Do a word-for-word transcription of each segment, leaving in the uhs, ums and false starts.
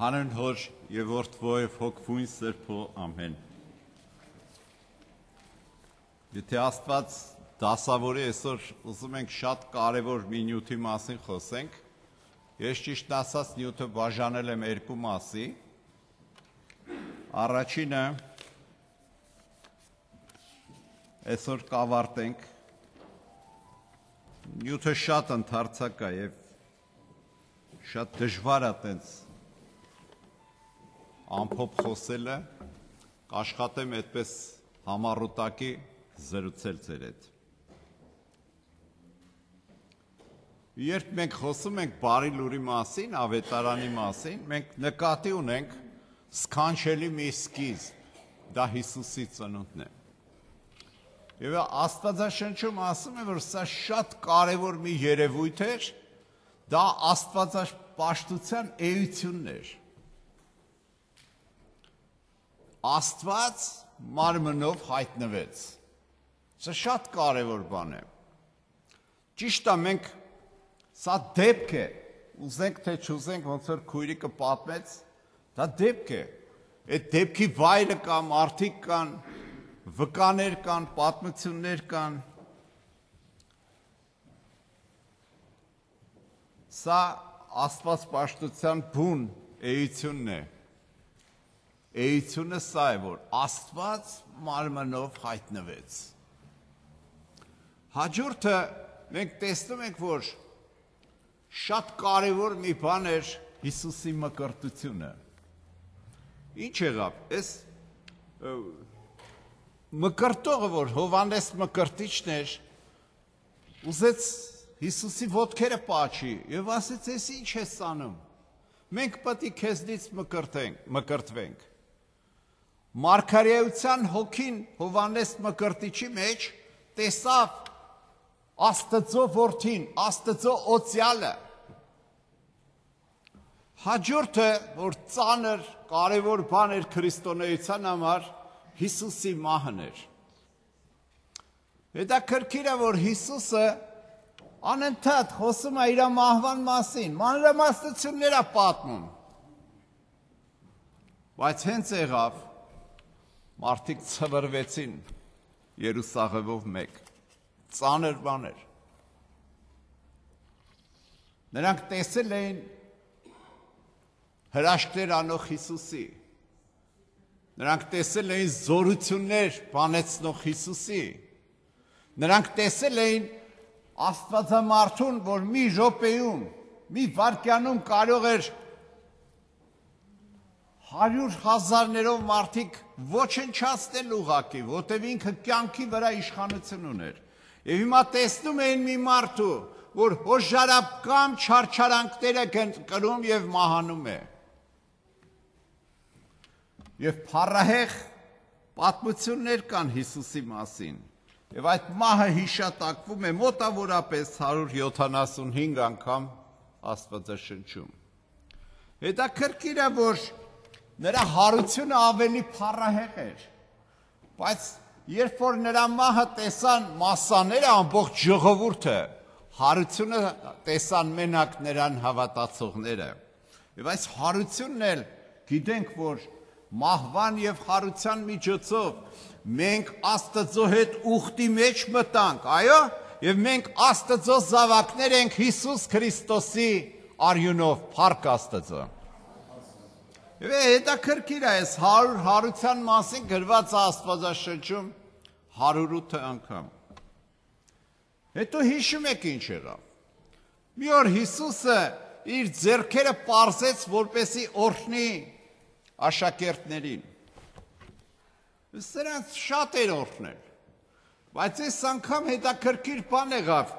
Հանուն Հոր եւ Որդվո եւ Հոգվույն Սրբո ամեն։ Եթե Աստված դասավորի այսօր ուզում ենք շատ կարևոր մի նյութի մասին խոսենք, ես ճիշտ ասած նյութը բաժանել եմ երկու մասի։ Առաջինը այսօր կավարտենք, նյութը շատ ընդարձակ է եւ շատ դժվար է տենց ամփոփ խոսելը, կաշխատեմ այդպես համառուտակի զրուցել ձեր հետ։ Երբ մենք խոսում ենք բարի լուրի մասին, ավետարանի մասին, մենք նկատի ունենք սքանչելի մի սկիզբ, դա Հիսուսի ծնունդն է։ Եվ Աստվածաշնչում ասում է, որ սա շատ կարևոր մի երևույթ էր, դա աստվածապաշտության էությունն էր։ Աստված մարմնով հայտնվեց։ Սա շատ կարևոր բան է։ Ճիշտ է, մենք սա դեպք է, ուզենք թե չուզենք, ոնց որ քույրիկը պատմեց, դա դեպք է։ Այդ դեպքի վայրը կա, մարդիկ կան, վկաներ կան, պատմություններ կան։ Սա աստվածապաշտության բուն էությունն է։ Էությունը սա է, որ Աստված մարմնով հայտնվեց։ Հաջորդը մենք տեսնում ենք, որ շատ կարևոր մի բան էր Հիսուսի մկրտությունը։ Ինչ եղավ, այս մկրտողը, որ Հովհաննես մկրտիչն էր, ուզեց Հիսուսի ոտքերը պաչի եւ ասեց, «Էս ինչ ես անում։ Մենք պետք է քեզնից մկրտվենք»։ Մարգարեության հոգին Հովհաննես մկրտիչի մեջ տեսավ Աստծո որդին, Աստծո օծյալը։ Հաջորդը, որ ծանր, կարևոր բան էր քրիստոնեության համար, Հիսուսի մահն էր։ Հետաքրքիր է, որ Հիսուսը անընդհատ խոսում է իր մահվան մասին, մանրամասնություններ է պատմում։ Բայց հենց եղավ, մարդիկ ցվրվեցին Երուսաղեմով մեկ, ծանր բան էր։ Նրանք տեսել էին հրաշքներ անող Հիսուսի, նրանք տեսել էին զորություններ բանեցնող Հիսուսի, նրանք տեսել էին Աստվածամարդուն, որ մի րոպեում, մի վայրկյանում կարող էր հարյուր հազարներով մարդիկ ոչնչացնել ուղղակի, որտեղ ինքը կյանքի վրա իշխանություն ուներ։ Եվ հիմա տեսնում էին մի մարդու, որ հոժարապկամ չարչարանքները կրում եւ մահանում է։ Եվ փառահեղ պատմություններ կան Հիսուսի մասին։ Եվ այդ մահը հիշատակվում է մոտավորապես հարյուր յոթանասունհինգ անգամ Աստվածաշնչում։ Հետաքրքիր է, որ նրա հարությունը ավելի փառահեղ էր, բայց երբ որ նրա մահը տեսան մասսաները, ամբողջ ժողովուրդը, հարությունը տեսան մենակ նրան հավատացողները։ Եվ այս հարությունն էլ գիտենք, որ մահվան եւ հարության միջոցով մենք Աստծո հետ ուխտի մեջ մտանք, այո, եւ մենք Աստծո զավակներ ենք Հիսուս Քրիստոսի արյունով, փառք Աստծո։ Եվ հետաքրքիր է, այս հարյուր հարության մասին գրված է Աստվածաշնչում հարյուր ութ անգամ։ Հետո հիշում եք ինչ եղավ։ Մի օր Հիսուսը իր ձեռքերը պարզեց, որպեսզի օրհնի աշակերտներին։ Սրանց շատ էր օրհնել, բայց այս անգամ հետաքրքիր բան եղավ,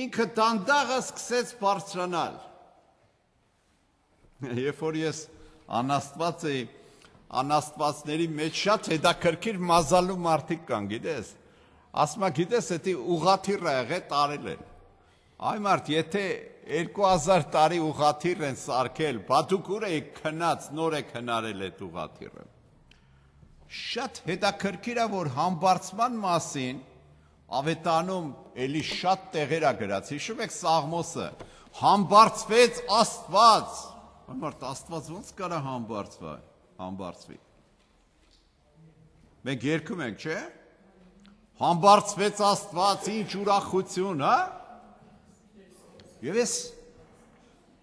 ինքը դանդաղը սկսեց բարձրանալ։ Երբ որ ես անաստված էի, անաստվածների մեջ շատ հետաքրքիր մազալու մարդիկ կան, գիտես, ասում է, գիտես, էդի ուղղաթիռ է եղել, տարել են։ Այ մարդ, եթե երկու հազար տարի ուղղաթիռ են սարքել, բա դուք ուր եք քնած, նոր եք հնարել այդ ուղղաթիռը։ Շատ հետաքրքիր է, որ համբարձման մասին ավետանում էլի շատ տեղեր է գրած, հիշում եք Սաղմոսը, համբարձվեց Աստված, Մարդ Աստված ոնց կարա համբարձվի, համբարձվի։ Մենք երգում ենք, չէ՞։ Համբարձվեց Աստված, ինչ ուրախություն, հա։ Եվ ես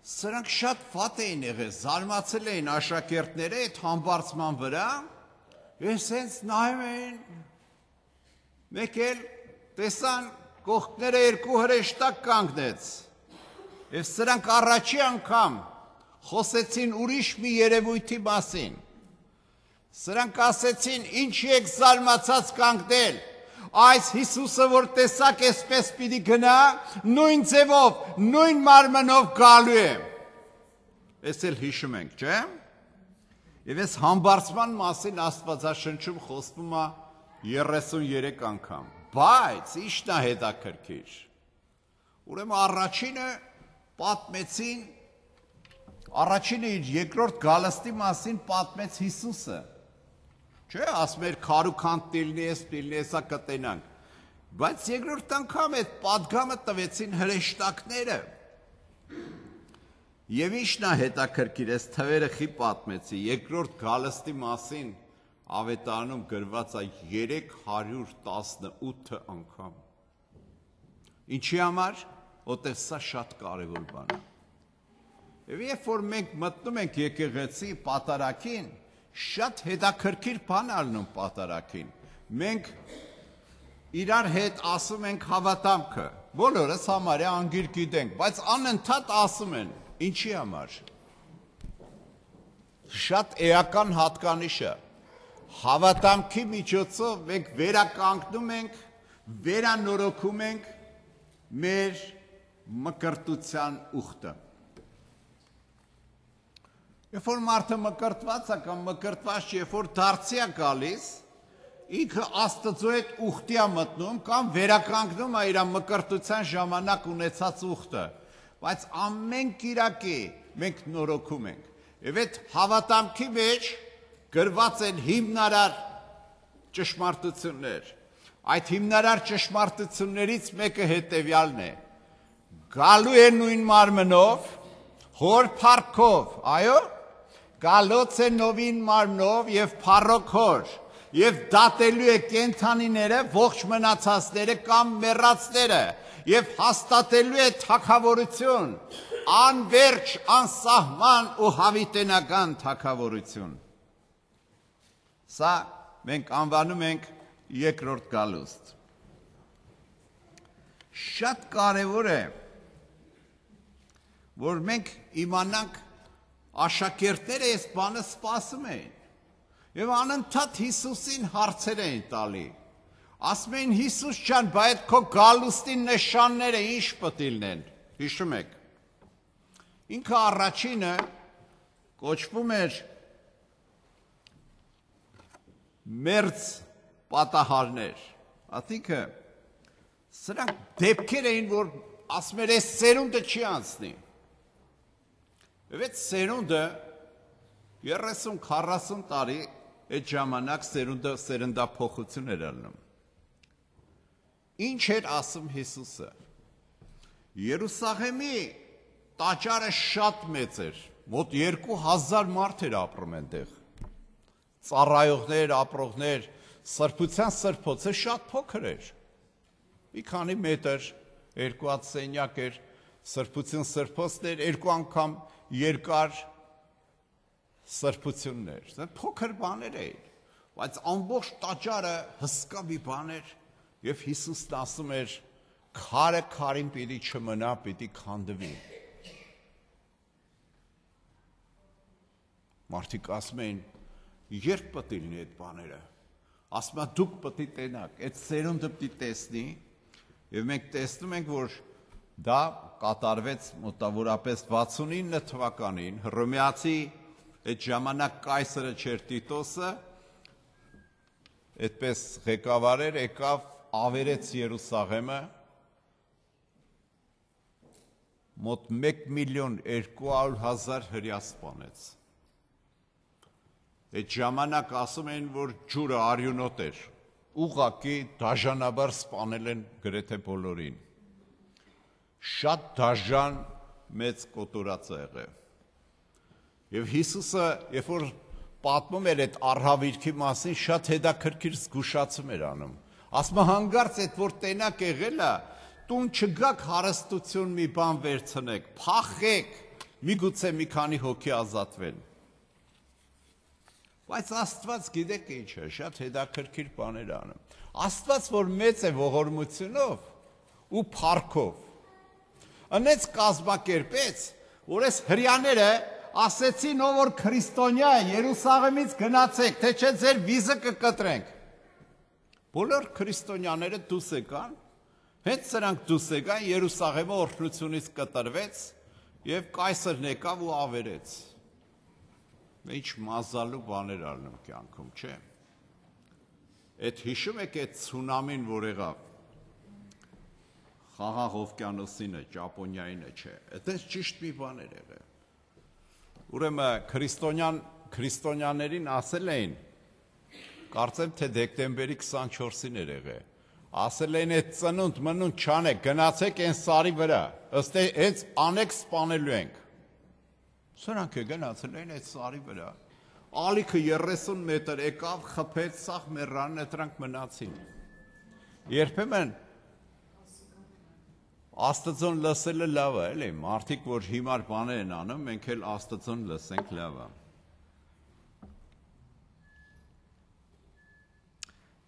սրանք շատ վատ էին եղել, զարմացել էին աշակերտները այդ համբարձման վրա, ես հենց նայում էին, մեկ էլ տեսան կողքները երկու հրեշտակ կանգնեց, և սրանք առաջի անգամ խոսեցին ուրիշ մի երևույթի մասին, սրանք ասեցին, ինչի եք զարմացած կանգնել, այս Հիսուսը, որ տեսակ էսպես պիտի գնա, նույն ձևով, նույն մարմնով գալու է։ Ես էլ հիշում ենք, չէ՞։ Եվ ես համբարձման մասին Աստվածաշնչում խոսվում է երեսուներեք անգամ, բայց ի՞նչն է հետաքրքիր։ Ուրեմն առաջինը պատմեցին, առաջինը իր երկրորդ գալստի մասին պատմեց Հիսուսը։ Չէ, ասում էր քարուքանտ տիլնի ես, տիլնի եսա կտենանք, բայց երկրորդ անգամ այդ պատգամը տվեցին հրեշտակները։ Եվ ի՞նչն է հետաքրքիր, այս թվերը խի պատմեցի, երկրորդ գալստի մասին Ավետարանում գրված է երեք հարյուր տասնութ անգամ։ Ինչի համար, որտեղ սա շատ կարևոր բան է։ Եվ երբ որ մենք մտնում ենք եկեղեցի պատարագին, շատ հետաքրքիր բան ալնում պատարագին։ Մենք իրար հետ ասում ենք հավատամքը, բոլորս համարյա անգիր գիտենք, բայց անընդհատ ասում են, ինչի համար։ Շատ էական հատկանիշը, հավատամքի միջոցով մենք վերականգնում ենք, վերանորոգում ենք մեր մկրտության ուխտը։ Երբ որ մարդը մկրտված է կամ մկրտված չի, երբ որ դարձի է գալիս, ինքը Աստծո հետ ուխտի է մտնում կամ վերականգնում է իր մկրտության ժամանակ ունեցած ուխտը, բայց ամեն կիրակի մենք նորոգում ենք։ Եվ այդ հավատամքի մեջ գրված են հիմնարար ճշմարտություններ։ Այդ հիմնարար ճշմարտություններից մեկը հետևյալն է. գալու է նույն մարմնով, հոր փառքով, այո, գալոց է նովին մարմնով և փառոք հոր, և դատելու է կենդանիները, ողջ մնացածները կամ մեռածները, և հաստատելու է թագավորություն, անվերջ, անսահման ու հավիտենական թագավորություն։ Սա մենք անվանում ենք երկրորդ գալուստ։ Շատ կարևոր է, որ մենք իմանանք աշակերտները այս բանը սպասում էին և անընդհատ Հիսուսին հարցեր էին տալի։ Ասում էին Հիսուս ջան, բա այդ քո գալուստի նշանները ինչ պետք է լինեն։ Հիշում եք։ Ինքը առաջինը կոչվում էր մերձ պատահարներ։ Ասինքն սրանք դեպքեր էին, որ ասում էր այս սերունդը չի անցնի։ Եվ այդ սերունդը երեսուն քառասուն տարի այդ ժամանակ սերունդը սերնդափոխություն էր անում։ Ինչ էր ասում Հիսուսը։ Երուսաղեմի տաճարը շատ մեծ էր, մոտ երկու հազար մարդ էր ապրում այնտեղ։ Ծառայողներ, ապրողներ, սրբության սրբոցը շատ փոքր էր։ Մի քանի մետր, երկու հատ սենյակ էր, սրբություն սրբոցներ, երկու անգամ երկար սրբություններ, փոքր բաներ էին, բայց ամբողջ տաճարը հսկա մի բան էր, և Հիսուսն ասում էր, քարը քարին պիտի չմնա, պիտի քանդվի։ Մարդիկ ասում էին, երբ պետք է լինի այդ բաները, ասում է դուք պետք է տենաք, այդ սերունդը պետք է տեսնի, և մենք տեսնում ենք, որ դա կատարվեց մոտավորապես վաթսունինը թվականին, Հռոմեացի այդ ժամանակ կայսրը չէր Տիտոսը, այդպես ղեկավարեր եկավ, ավերեց Երուսաղեմը, մոտ մեկ միլիոն երկու հարյուր հազար հրյա սպանեց։ Այդ ժամանակ ասում էին, որ ջուրը արյունոտ էր, ուղղակի դաժանաբար սպանել են գրեթե բոլորին։ Շատ դաժան մեծ կոտորած է եղել։ Եվ Հիսուսը, երբ որ պատմում էր այդ առհավիրքի մասին, շատ հետաքրքիր զգուշացում էր անում։ Ասում է հանգարց այդ որ տենակ եղել է, տուն չգաք հարստություն մի բան վերցնեք, փախեք, միգուցե մի քանի հոգի ազատվեն։ Բայց Աստված գիտեք ինչ է, շատ հետաքրքիր բաներ անում։ Աստված, որ մեծ է ողորմությունով ու փառքով, ընեց կազմակերպեց, որ այս հրյաները ասեցին, ով որ քրիստոնյա է, Երուսաղեմից գնացեք, թե չէ ձեր վիզը կկտրենք։ Բոլոր քրիստոնյաները դուրս եկան, հենց սրանք դուրս եկան, Երուսաղեմը օրհնությունից կտրվեց եւ կայսրն եկավ ու ավերեց։ Ինչ մազալու բաներ ալնում կյանքում, չէ։ Այդ հիշում եք այդ ցունամին, որ եղավ Խաղաղ օվկիանոսինը, Ճապոնիայինը, չէ։ Այդպես ճիշտ մի բաներ եղել։ Ուրեմն քրիստոնյան քրիստոնյաներին ասել էին, կարծեմ թե դեկտեմբերի քսանչորսին էր եղել, ասել էին այդ ծնունդ մնունդ չանեք, գնացեք այն սարի վրա, ըստ հենց անեք սպանելու ենք։ Սրանք է գնացել էին այդ սարի վրա, ալիքը երեսուն մետր եկավ, խփեց, սաղ մեռան, նրանք մնացին։ Երբեմն Աստծուն լսելը լավ է, էլի, մարդիկ, որ հիմար բաներ են անում, մենք էլ Աստծուն լսենք լավ է։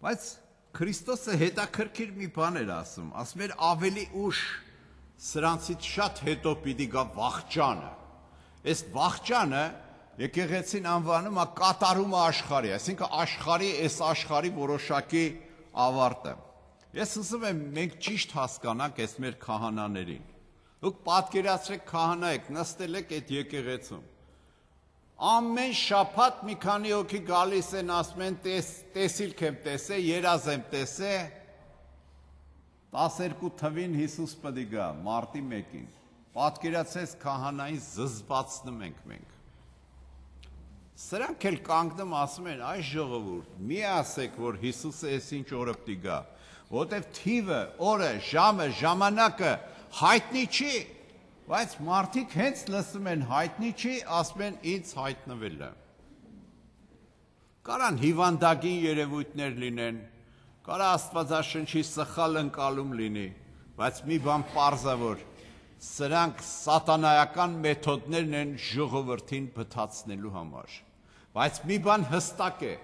Բայց Քրիստոսը հետաքրքիր մի բան էր ասում, ասում էր ավելի ուշ սրանցից շատ հետո պիտի գա վախճանը։ Այս վախճանը եկեղեցին անվանում է կատարումը աշխարհի, այսինքն աշխարհի, այս աշխարհի որոշակի ավարտը։ Ես ուզում եմ մենք ճիշտ հասկանանք այս մեր քահանաներին։ Դուք պատկերացրեք քահանա եք, նստել եք այդ եկեղեցում։ Ամեն շաբաթ մի քանի հոգի գալիս են, ասում են տեսիլք եմ տեսե, երազ եմ տեսե, տասներկու թվին Հիսուս պետք է գա, մարտի մեկին։ Պատկերացրեք քահանային զզվացնում ենք մենք։ Սրանք էլ կանգնում ասում են, այս ժողովուրդ, մի ասեք, որ Հիսուսը այսինչ օրը պետք է գա, որտեվ թիվը, օրը, ժամը, ժամանակը հայտնի չի, բայց մարդիկ հենց լսում են հայտնի չի, ասում են ինձ հայտնվել է։ Կարան հիվանդագին երևույթներ լինեն, կարա Աստվածաշնչի սխալ ընկալում լինի, բայց մի բան պարզ է, որ սրանք սատանայական մեթոդներն են ժողովրդին բթացնելու համար։ Բայց մի բան հստակ է,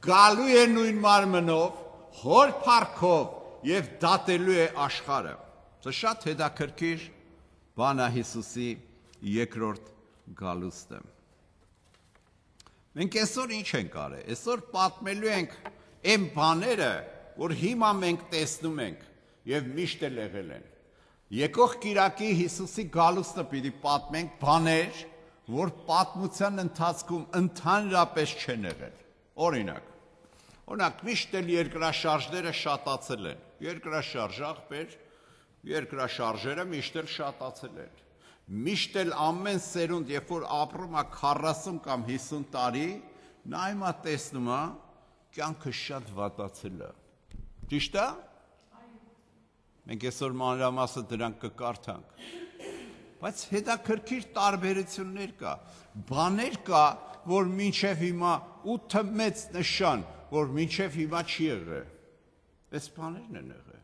գալու է նույն մարմնով, հոր փառքով եւ դատելու է աշխարհը։ Սա շատ հետաքրքիր բան է Հիսուսի երկրորդ գալուստը։ Մենք այսօր ինչ ենք արել։ Այսօր պատմելու ենք այն բաները, որ հիմա մենք տեսնում ենք եւ միշտ էլ եղել են։ Եկող կիրակի Հիսուսի գալուստը պիտի պատմենք բաներ, որ պատմության ընթացքում ընդհանրապես չեն եղել։ Օրինակ, օրինակ միշտ էլ երկրաշարժները շատացել են։ Երկրաշարժ աղբեր, երկրաշարժերը միշտ էլ շատացել են։ Միշտ էլ ամեն սերունդ, երբ որ ապրում է քառասուն կամ հիսուն տարի, նա հիմա տեսնում է, կյանքը շատ վատացել է։ Ճիշտ է։ Մենք այսօր մանրամասը դրանք կկարդանք։ Բայց հետաքրքիր տարբերություններ կա, բաներ կա, որ մինչև հիմա ութը մեծ նշան, որ մինչև հիմա չի եղել։ Այս բաներն են եղել։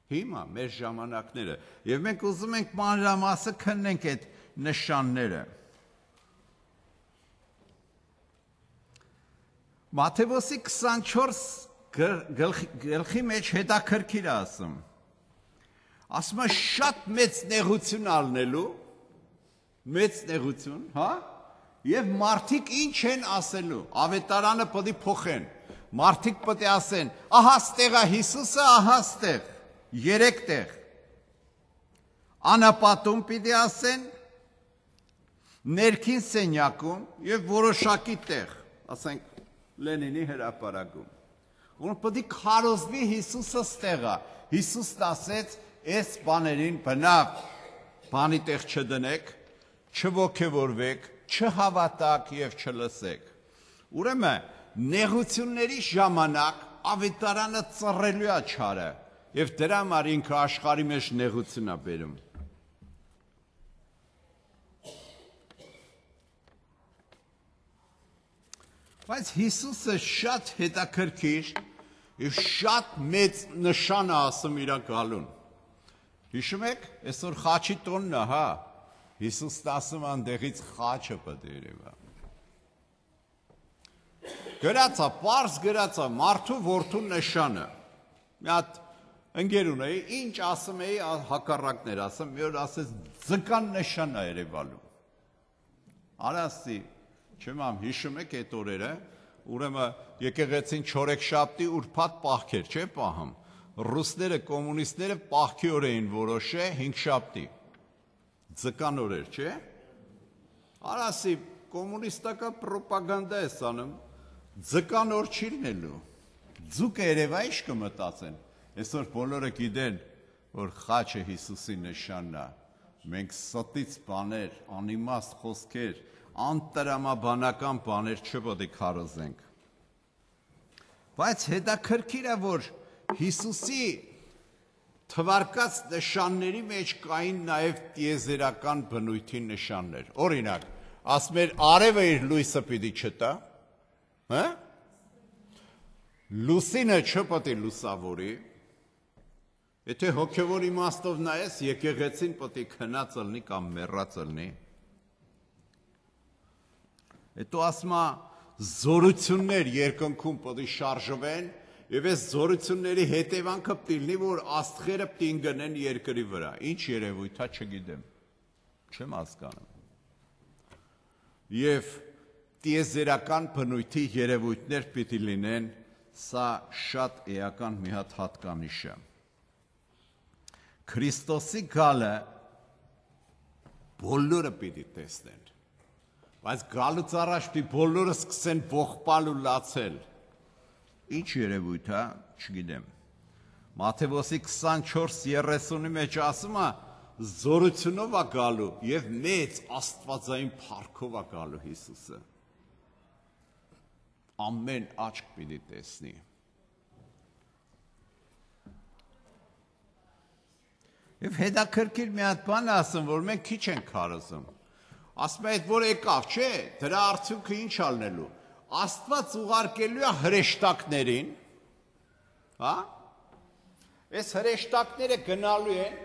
Հիմա մեր ժամանակները, եւ մենք ուզում ենք մանրամասը քննենք այդ նշանները։ Մատթեոսի քսանչորս գլխի մեջ հետաքրքիր է ասում։ Ասում է շատ մեծ նեղություն ալնելու, մեծ նեղություն, հա, եւ մարդիկ ինչ են ասելու, ավետարանը պետք է փոխեն, մարդիկ պետք է ասեն, ահա ստեղ է Հիսուսը, ահա ստեղ, երեք տեղ, անապատում պիտի ասեն, ներքին սենյակում եւ որոշակի տեղ, ասենք Լենինի հրապարակում, որ պետք է քարոզվի Հիսուսը ստեղ է, Հիսուսն ասեց, այս բաներին բնավ բանի տեղ չդնեք, չոգևորվեք, չհավատաք եւ չլսեք։ Ուրեմն նեղությունների ժամանակ ավետարանը ծռելու է չարը եւ դրա համար ինքը աշխարհի մեջ նեղություն է բերում։ Բայց Հիսուսը շատ հետաքրքիր եւ շատ մեծ նշան է ասում իր գալուն։ Հիշում եք, այսօր խաչի տոնն է, հա։ Հիսուսն ասում է այնտեղից խաչը պետք է երևա։ Գրած է, պարզ գրած է մարդու որդու նշանը։ Մի հատ ընկեր ունեի, ինչ ասում էի, հակառակներ ասում, մի օր ասեց ձկան նշան է երևալու։ Արասի, չեմ ամ հիշում եք այդ օրերը, ուրեմն եկեղեցին չորեքշաբթի ուրբաթ պահքեր, չէ՞ պահում։ Ռուսները, կոմունիստները պահքի օր էին որոշել հինգշաբթի։ Ձկան օրեր, չէ՞։ Արասի, կոմունիստական պրոպագանդա է անում, ձկան օր չի լինելու։ Ձուկը երևա ինչ կմտածեն։ Այսօր բոլորը գիտեն, որ խաչը Հիսուսի նշանն է։ Մենք ստից բաներ, անիմաստ խոսքեր, անտրամաբանական բաներ չպետք է քարոզենք։ Բայց հետաքրքիր է, որ Հիսուսի թվարկած նշանների մեջ կային նաև տիեզերական բնույթի նշաններ։ Օրինակ, ասում էր արևը իր լույսը պիտի չտա, հա՞։ Լուսինը չպետք է լուսավորի։ Եթե հոգևոր իմաստով նայես, եկեղեցին պետք է քնած լինի կամ մեռած լինի։ Հետո ասում է զորություններ երկնքում պետք է շարժվեն, եւ այս զորությունների հետևանքը պետք է լինի, որ աստղերը պետք է ընկնեն երկրի վրա։ Ինչ երևույթ է, չգիտեմ։ Չեմ հասկանում։ Եվ տիեզերական բնույթի երևույթներ պետք է լինեն, սա շատ էական մի հատ հատկանիշ է։ Քրիստոսի գալը բոլորը պիտի տեսնեն, բայց գալուց առաջ պիտի բոլորը սկսեն ողբալ ու լացել։ Ինչ երևույթ է, չգիտեմ։ Մատթեոսի քսանչորս երեսունի մեջ ասում է զորությունով է գալու եւ մեծ աստվածային փառքով է գալու Հիսուսը։ Ամեն աչք պիտի տեսնի։ Եվ հետաքրքիր մի հատ բան ասում, որ մենք քիչ ենք քարոզում։ Ասում է, այդ որ եկավ, չէ, դրա արդյունքը ինչ ալնելու։ Աստված ուղարկելու է հրեշտակներին, հա։ Այս հրեշտակները գնալու են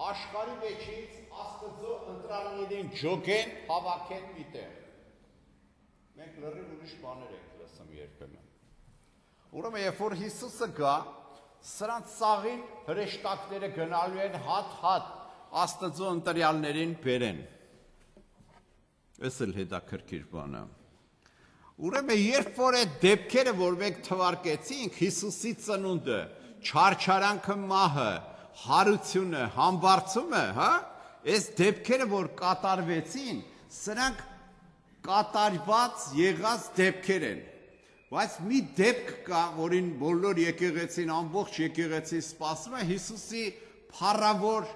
աշխարհի մեջից Աստծո ընտրալներին ջոգեն, հավաքեն միտեղ։ Մենք լրիվ ուրիշ բաներ ենք լսում երբեմն։ Ուրեմն երբ որ Հիսուսը գա, սրանց սաղին հրեշտակները գնալու են հատ-հատ Աստծո ընտրյալներին բերեն։ Այս էլ հետաքրքիր բան է։ Ուրեմն երբ որ այդ դեպքերը, որ մենք թվարկեցինք, Հիսուսի ծնունդը, չարչարանքը, մահը, հարությունը, համբարձումը, հա, այս դեպքերը, որ կատարվեցին, սրանք կատարված եղած դեպքեր են։ Բայց մի դեպք կա, որին բոլոր եկեղեցին, ամբողջ եկեղեցին սպասում է, Հիսուսի փառավոր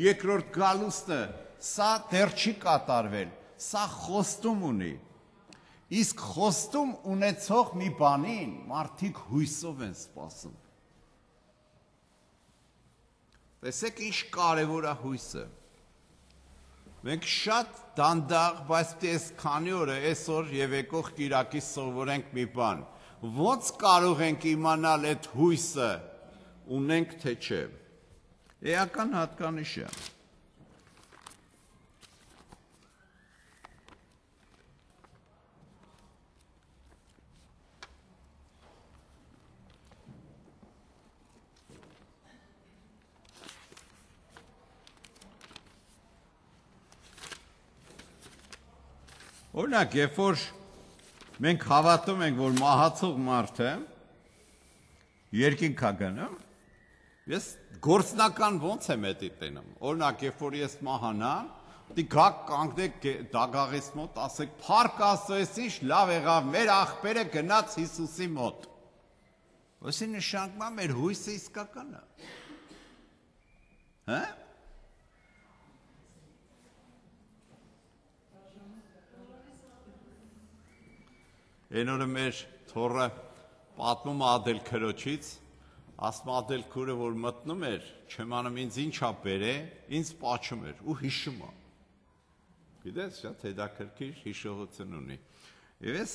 երկրորդ գալուստը, սա դեռ չի կատարվել, սա խոստում ունի։ Իսկ խոստում ունեցող մի բանին մարդիկ հույսով են սպասում։ Տեսեք ինչ կարևոր է հույսը։ Մենք շատ դանդաղ, բայց այս քանի օրը այսօր եւ եկող կիրակի սովորենք մի բան։ Ոնց կարող ենք իմանալ այդ հույսը ունենք թե չէ։ Էական հատկանիշ է։ Օրինակ, երբ որ մենք հավատում ենք, որ մահացող մարդը երկինք է գնում, ես գործնական ոնց եմ էդի տենում։ Օրինակ, երբ որ ես մահանամ, դի գաք կանգնեք դագաղիս մոտ, ասեք, փառք Աստծո, ես ինչ լավ եղավ, մեր աղբերը գնաց Հիսուսի մոտ։ Ոսի նշանակում է մեր հույսը իսկական է։ Հա՞։ Այն օրը մեր թոռը պատմում ադել քրոջից, ասում ադել քուրը, որ մտնում էր, չեմ անում ինձ ինչ ա բերե, ինձ պաչում էր ու հիշում է։ Գիտես, շատ հետաքրքիր հիշողություն ունի։ Եվ ես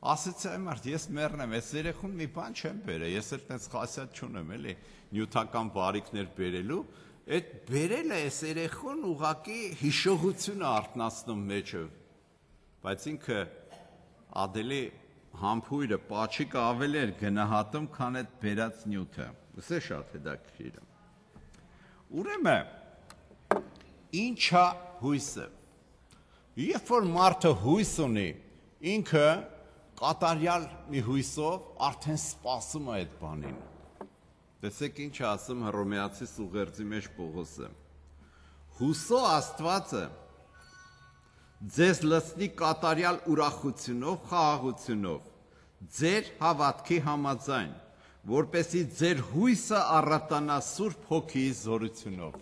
Ասեցի այ մարդ, ես մեռնեմ, ես երեխուն մի բան չեմ բերել, ես էլ տենց խասյատ չունեմ, էլի, նյութական բարիքներ բերելու, այդ բերելը ես երեխուն ուղղակի հիշողությունը արթնացնում մեջը, բայց ինքը ադելի համբույրը, պաչիկը ավելի էր գնահատում, քան այդ բերած նյութը, ուսե շատ հետաքրքիր է։ Ուրեմն, ինչ է հույսը։ Երբ որ մարդը հույս ունի, ինքը կատարյալ մի հույսով արդեն սպասում է այդ բանին։ Տեսեք ինչ է ասում Հռոմեացի ուղերձի մեջ Պողոսը։ Հուսո Աստվածը ձեզ լցնի կատարյալ ուրախությունով, խաղաղությունով, ձեր հավատքի համաձայն, որպեսզի ձեր հույսը առատանա Սուրբ Հոգիի զորությունով։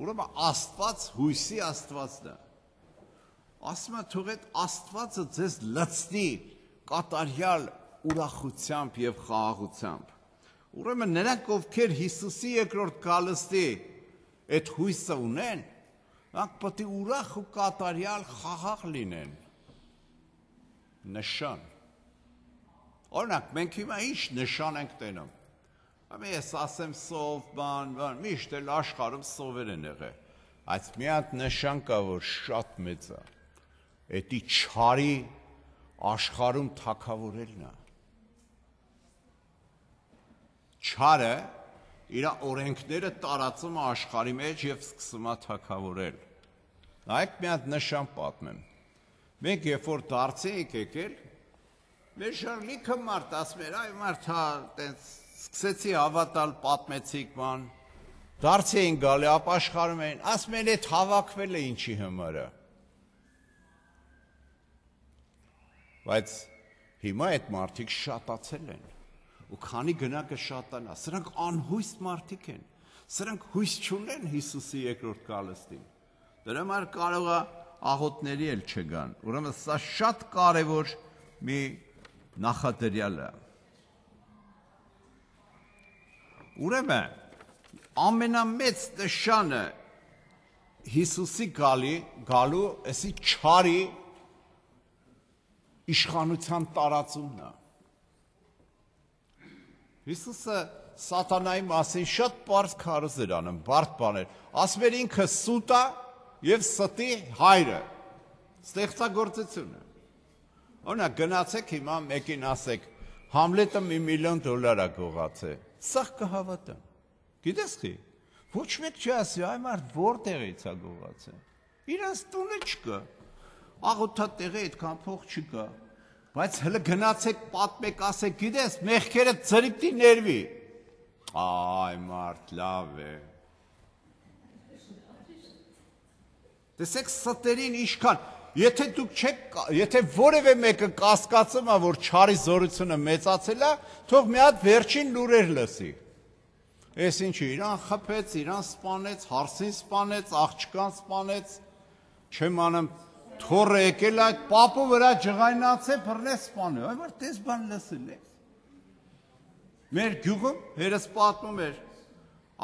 Ուրեմն Աստված հույսի Աստվածն է։ Ասում է թող այդ Աստվածը ձեզ լցնի կատարյալ ուրախությամբ եւ խաղաղությամբ։ Ուրեմն նրանք, ովքեր Հիսուսի երկրորդ գալստի այդ հույսը ունեն, նրանք պետք է ուրախ ու կատարյալ խաղաղ լինեն։ Նշան։ Օրինակ, մենք հիմա ինչ նշան ենք տենում։ Ամեն ես ասեմ սով, բան, բան, միշտ էլ աշխարհում սովեր են եղել։ Այս մի հատ նշան կա, որ շատ մեծ է։ Էդի չարի աշխարհում թակավորելն է։ Չարը իր օրենքները տարածում է աշխարհի մեջ եւ սկսում է թակավորել։ Նայեք մի հատ նշան պատմեմ։ Մենք երբ որ դարձի ենք եկել, մեր շարլիքը մարդ ասում էր, այ մարդ հա, տենց սկսեցի հավատալ, պատմեցիք բան։ Դարձի էին գալի, ապաշխարում էին, ասում են, այդ հավաքվել է ինչի համար է։ Բայց հիմա այդ մարդիկ շատացել են, ու քանի գնակը շատանա, սրանք անհույս մարդիկ են, սրանք հույս չունեն Հիսուսի երկրորդ գալստին, դրա համար կարող է աղոթների էլ չգան, ուրեմն սա շատ կարևոր մի նախադրյալ է։ Ուրեմն ամենամեծ նշանը Հիսուսի գալի, գալու, էսի չարի իշխանության տարածումն է։ Հիսուսը սատանայի մասին շատ պարզ քարոզ էր անում, բարդ բաներ։ Ասում էր ինքը սուտ է եւ ստի հայրը։ Ստեղծագործությունը։ Օրինակ գնացեք հիմա մեկին ասեք, Համլետը մի միլիոն դոլար է գողացել։ Սա կհավատամ։ Գիտես խի։ Ոչ մեկ չասի, այ մարդ որտեղից է գողացել։ Իրանց տունը չկա։ Աղոթատեղի այդքան փող չկա, բայց հələ գնացեք պատմեք, ասեք, գիտես, մեղքերը ծրիպտի ներվի։ Այ մարդ լավ է։ Տեսեք ստերին իշքան, եթե դուք չեք, եթե որևէ մեկը կասկածում է, որ չարի զորությունը մեծացել է, թող մի հատ վերջին լուրեր լսի։ Էս ինչի, իրան խփեց, իրան սպանեց, հարսին սպանեց, աղջկան սպանեց, չեմ անում թորը եկել այդ պապու վրա ջղայնաց է բռնեց սպանել, այ որ տես բան լսել ես։ Մեր գյուղում հերս պատմում էր,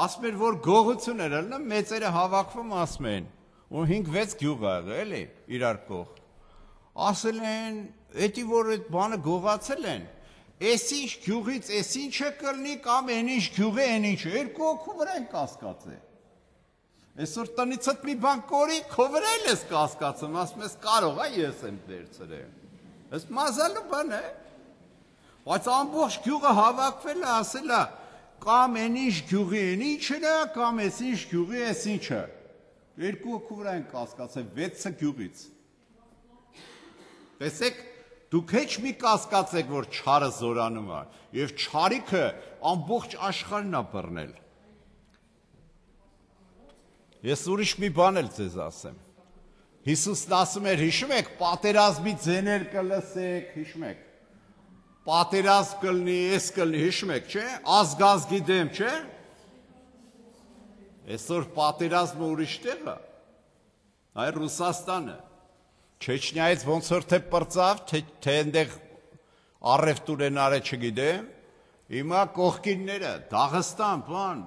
ասում էր, որ գողություն էր ելնում, մեծերը հավաքվում ասում են, ու հինգ-վեց գյուղ ա եղել էլի, իրար կող։ Ասել են, էդի որ այդ բանը գողացել են, էս ինչ գյուղից, էս ինչը կլնի կամ են ինչ գյուղի են ինչը, երկու օքու վրա են կասկածել։ Այսօր տնիցդ մի բան կորի, քո վրա էլ ես կասկածում, ասում ես կարող է ես եմ վերցրել։ Այս մազալու բան է։ Բայց ամբողջ գյուղը հավաքվել է, ասել է, կամ են ինչ գյուղի են ինչն է, կամ էս ինչ գյուղի էս ինչը։ Երկու օքու վրա են կասկածել, վեցը գյուղից։ Տեսեք, դուք հեչ մի կասկածեք, որ չարը զորանում է, եւ չարիքը ամբողջ աշխարհն է բռնել։ Ես ուրիշ մի բան էլ ձեզ ասեմ։ Հիսուսն ասում էր, հիշում եք, պատերազմի ձեներ կլսեք, հիշում եք։ Պատերազմ կլնի, ես կլնի, հիշում եք, չէ՞, ազգազգի դեմ, չէ՞։ Այսօր պատերազմը ուրիշ տեղ է։ Այ Ռուսաստանը։ Չեչնիայից ոնց որ թե պրծավ, թե թե այնտեղ առևտուր են արել, չգիտեմ։ Հիմա կողքինները, Դաղստան, բան,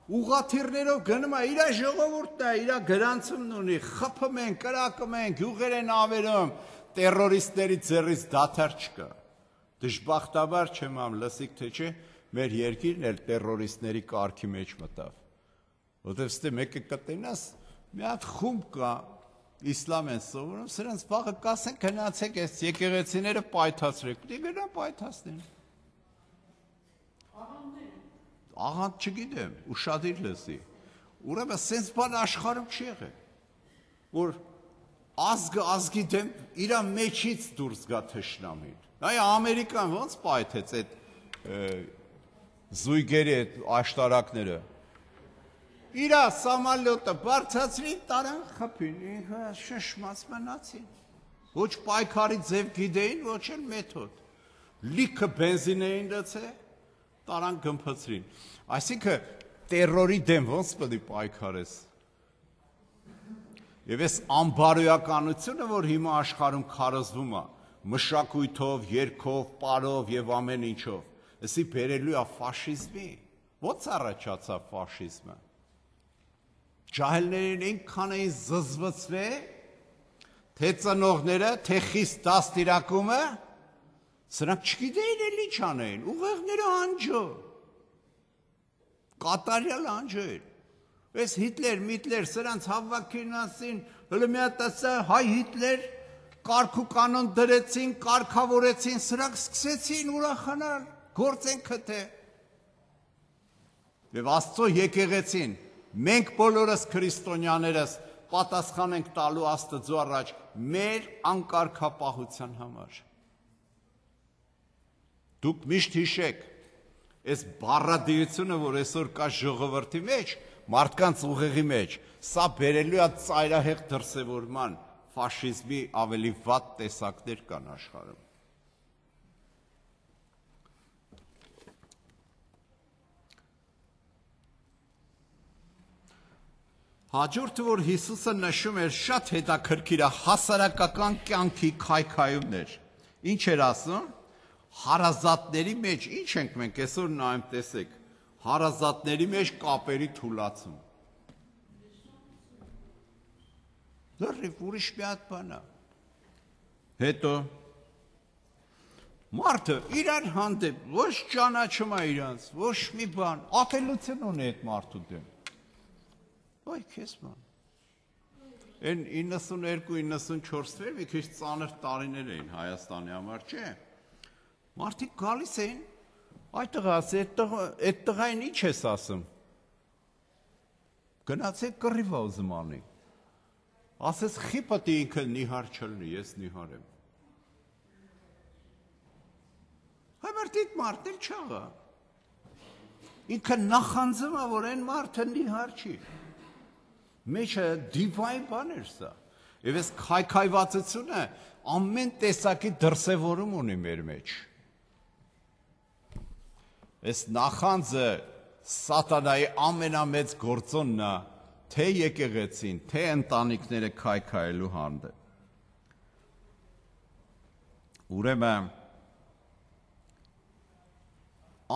ուղղաթիռներով գնում է, իր ժողովուրդն է, իր գրանցումն ունի, խփում են, կրակում են, գյուղեր են ավերում, տերորիստների ձեռից դադար չկա։ Դժբախտաբար չեմ ամ լսիք թե չէ, մեր երկիրն էլ տերորիստների կարգի մեջ մտավ։ Որտեւ ստե մեկը կտենաս, մի հատ խումբ կա, իսլամ են սովորում, սրանց վաղը կասեն գնացեք այս եկեղեցիները պայթացրեք, դե գնան պայթացնեն։ Աղանդ չգիտեմ, ուշադիր լսի։ Ուրեմն սենց բան աշխարհում չի եղել, որ ազգը ազգի դեմ իր մեջից դուրս գա թշնամին։ Այ Ամերիկան ոնց պայթեց այդ զույգերի այդ աշտարակները։ Իր սամալյոտը բարձրացրին, տարան խփին, շշմած մնացին։ Ոչ պայքարի ձև գիտեին, ոչ էլ մեթոդ։ Լիքը բենզին էին լցել, տարան գմփցրին։ Այսինքն տերորի դեմ ոնց պետք է պայքարես։ Եվ այս ամբարոյականությունը, որ հիմա աշխարհում քարոզվում է, մշակույթով, երգով, պարով եւ ամեն ինչով, էսի բերելու է ֆաշիզմի։ Ո՞նց առաջացավ ֆաշիզմը։ Ջահելներին այնքան էին զզվացվել, թե ծնողները, թե խիստ դաստիարակումը, սրանք չգիտեին էլի չանեին, ուղեղները անջո։ Կատարյալ անջո էր։ Այս Հիտլեր, Միտլեր, սրանց հավաքին ասին, հələ մի հատ ասա հայ Հիտլեր, կարգ ու կանոն դրեցին, կարգավորեցին, սրանք սկսեցին ուրախանալ, գործեն քթե։ Եվ Աստծո եկեղեցին, մենք բոլորս քրիստոնյաներս պատասխան ենք տալու Աստծո առաջ մեր անկարգապահության համար։ Դուք միշտ հիշեք, այս բառադիությունը, որ այսօր կա ժողովրդի մեջ, մարդկանց ուղեղի մեջ, սա բերելու է ծայրահեղ դրսևորման ֆաշիզմի ավելի վատ տեսակներ կան աշխարհում։ Հաջորդը, որ Հիսուսը նշում էր, շատ հետաքրքիր է, հասարակական կյանքի քայքայումներ։ Ինչ էր ասում։ Հարազատների մեջ, ինչ ենք մենք այսօր նայում տեսեք, հարազատների մեջ կապերի թուլացում։ Լրիվ ուրիշ մի հատ բան է։ Հետո մարդը իրար հանդեպ ոչ ճանաչում է իրանց, ոչ մի բան, ատելություն ունի այդ մարդու դեմ։ Ոայ քեզ ման։ Այն իննսունհինգ իննսունչորս-ը մի քիչ ծանր տարիներ էին Հայաստանի համար, չէ՞։ Մարդիկ գալիս էին, այդ տղա, այդ տղային ինչ ես ասում։ Գնացեք կռիվա ուզում անի։ Ասես խիպտի ինքը նիհար չլնի, ես նիհար եմ։ Հայմարտիկ մարդ էլ չաղա։ Ինքը նախանձում է, որ այն մարդը նիհար չի։ Մեջը դիվային բան էր սա։ Եվ այս քայքայվածությունը ամեն տեսակի դրսևորում ունի մեր մեջ։ Այս նախանձը սատանայի ամենամեծ գործոնն է, թե եկեղեցին, թե ընտանիքները քայքայելու հանդեպ։ Ուրեմն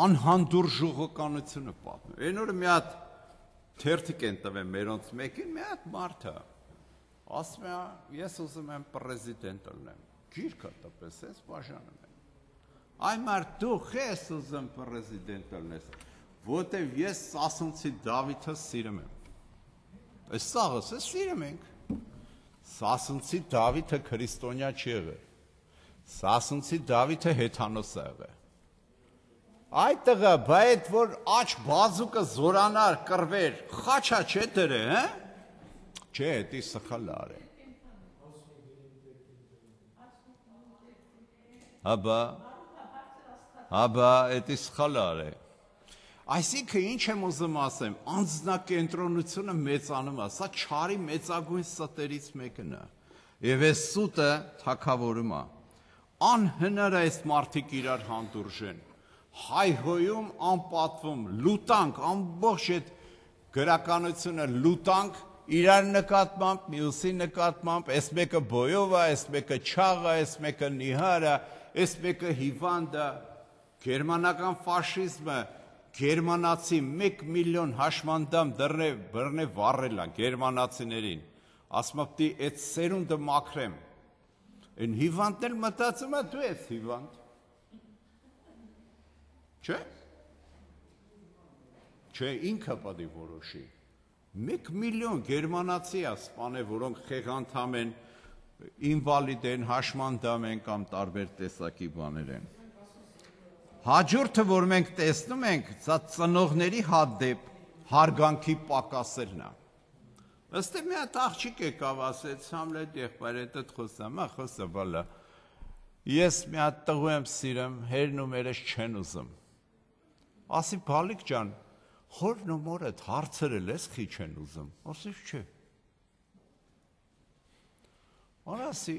անհանդուր ժողոկանությունը պատմում։ Այն օրը մի հատ թերթիկ են տվել մերոնց մեկին, մի հատ մարդ է։ Ասում է, ես ուզում եմ պրեզիդենտ լինեմ։ Գիրքը տպես ես բաժանում եմ։ Այ մարդ դու ես ուզում պրեզիդենտ լինես, որտեվ ես Սասունցի Դավիթը սիրում եմ։ Այս սաղս է սիրում ենք։ Սասունցի Դավիթը քրիստոնյա չի եղել։ Սասունցի Դավիթը հեթանոս է եղել։ Այդ տղա, բայց որ աչ բազուկը զորանար, կռվեր, խաչա չէ դրե, հա։ Չէ, դի սխալ արե։ Հաբա Հաբա, էդի սխալ արե։ Այսինքն ինչ եմ ուզում ասեմ, անձնակենտրոնությունը մեծանում է, սա չարի մեծագույն ստերից մեկն է։ Եվ այս սուտը թագավորում է։ Անհնար է այս մարդիկ իրար հանդուրժեն։ Հայհոյում, անպատվում, լուտանք, ամբողջ այդ գրականությունը լուտանք, իրար նկատմամբ, մյուսի նկատմամբ, այս մեկը բոյով է, այս մեկը չաղ է, այս մեկը նիհար է, այս մեկը հիվանդ է։ Գերմանական ֆաշիզմը գերմանացի մեկ միլիոն հաշմանդամ դռնե բռնե վառել են գերմանացիներին։ Ասում եմ, այդ սերունդը մաքրեմ։ Այն հիվանդն էլ մտածում է դու ես հիվանդ։ Չէ՞։ Չէ, ինքը պետք է որոշի։ Մեկ միլիոն գերմանացի է սպանել, որոնք խեղանդամ են, ինվալիդ են, հաշմանդամ են կամ տարբեր տեսակի բաներ են։ Հաջորդը, որ մենք տեսնում ենք, սա ծնողների հանդեպ հարգանքի պակասելն է։ Ըստ մի հատ աղջիկ եկավ, ասեց Համլետ եղբայրը խոսամ, ա խոսա բալա։ Ես մի հատ տղու եմ սիրում, հերն ու մերս չեն ուզում։ Ասի բալիկ ջան, հորն ու մորդ հարցրել ես խի չեն ուզում։ Ասես չէ։ Ասի,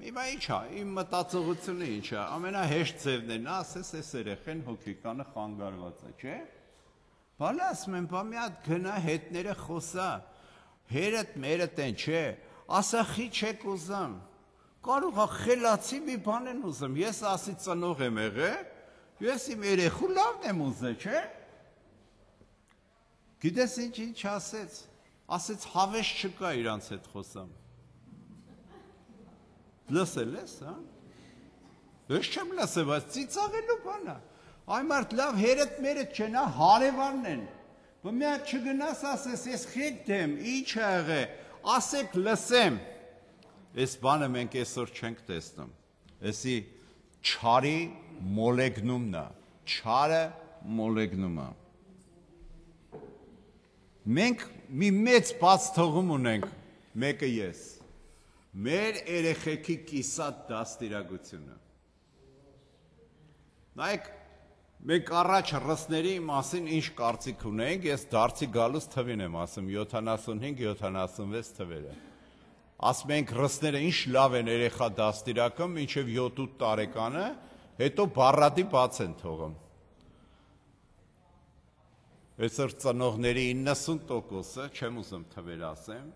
հիմա ինչ է, իմ մտածողությունը ինչ է, ամենահեշտ ձևն է, նա ասես այս երեխեն հոգեկանը խանգարված է, չէ՞։ Բալա ասում եմ, բա մի հատ գնա հետները խոսա, հերդ մերդ են, չէ, ասա խի չեք ուզում, կարող է խելացի մի բան են ուզում, ես ասի ծնող եմ եղել, ես իմ երեխու լավն եմ ուզել, չէ։ Գիտես ինչ ինչ ասեց, ասեց հավես չկա իրանց հետ խոսամ։ Լսել ես, հա։ Ես չեմ լսել, բայց ծիծաղելու բան է։ Այ մարդ լավ հերդ մերդ չեն, հա, հարևանն են։ Բա մի հատ չգնաս ասես, ես խիտ եմ, ինչ ա եղել, ասեք լսեմ։ Այս բանը մենք այսօր չենք տեսնում։ Էսի չարի մոլեգնումն է, չարը մոլեգնում է։ Մենք մի մեծ բաց թողում ունենք, մեկը ես, մեր երեխեքի կիսատ դաստիարակությունը։ Նայեք, մենք առաջ ռսների մասին ինչ կարծիք ունենք, ես դարձի գալուց թվին եմ ասում, յոթանասունհինգ յոթանասունվեց թվերը։ Ասում ենք ռսները ինչ լավ են երեխա դաստիարակում, մինչև յոթ-ութ տարեկանը, հետո բառադի բաց են թողում։ Այսօր ծնողների իննսուն տոկոսը, չեմ ուզում թվեր ասեմ,